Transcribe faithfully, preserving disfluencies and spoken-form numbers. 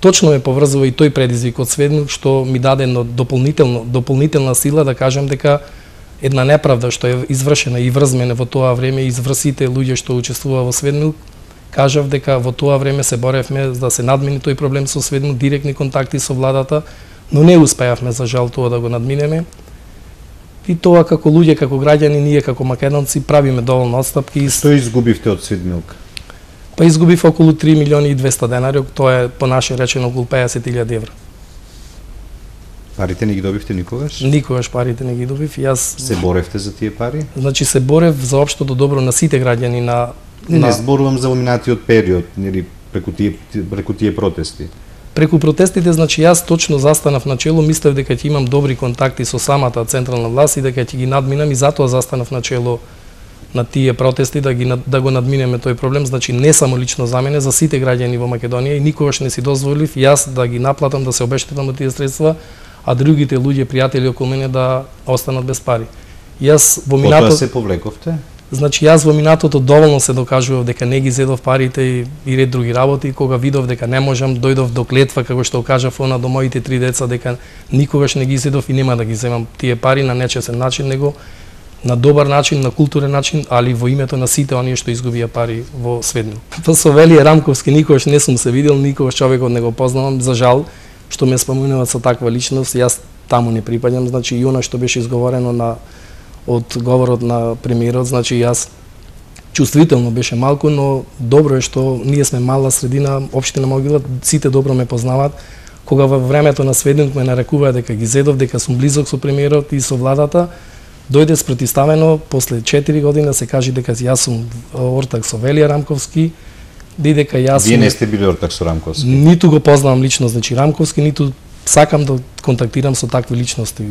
точно ме поврзува и тој предизвик од Сведнук, што ми даде едно дополнително дополнителна сила да кажам дека една неправда што е извршена и врзмена во тоа време, изврсите луѓе што учествуваа во Сведнук, кажав дека во тоа време се боревме за да се надмини тој проблем со Сведнук, директни контакти со владата, но не успеавме за жал тоа да го надминеме. И тоа како луѓе, како граѓани, ние како македонци правиме доволно отстапки. Што изгубивте од Сведнук? Па изгубив околу три милиони и двесте денари, тоа е по наше речено околу песет илјади евра. Парите не ги добивте никогаш? Никогаш парите не ги добив. Јас се боревте за тие пари? Значи се борев за општото добро на сите граѓани на Не, на... не зборувам за поминатиот период, нели преку тие преку тие протести. Преку протестите, значи јас точно застанав начело, мислев дека ќе имам добри контакти со самата централна власт и дека ќе ги надминам и затоа застанав начело на тие протести да ги да го надминеме тој проблем, значи не само лично за мене, за сите граѓани во Македонија и никогаш не си дозволив јас да ги наплатам, да се обештетам од тие средства, а другите луѓе, пријатели околу мене да останат без пари. Јас во минатото Потоа се повлековте? Значи јас во минатото доволно се докажував дека не ги зедов парите и, и ред други работи, кога видов дека не можам, дојдов до клетва како што кажав она до моите три деца дека никогаш не ги зедов и нема да ги земам тие пари на нечесен начин, него на добар начин, на културен начин, али во името на сите оние што изгубија пари во Сведнук. Па со Велије Рамковски никогаш не сум се видел, никогаш човекот не го познавам, за жал што ме спомнуваат со таква личност, јас таму не припаѓам, значи и она што беше изговорено на од говорот на премиерот, значи јас чувствително беше малку, но добро е што ние сме мала средина, општина Могила, сите добро ме познаваат. Кога во времето на Сведнук ме нарекуваа дека ги зедов, дека сум близок со премиерот и со владата, дојде спротивставено после четири години се кажи дека јас сум ортак со Велије Рамковски, и дека јас Вие не сте били ортак со Рамковски? Ниту го познавам лично, значи Рамковски, ниту сакам да контактирам со такви личности.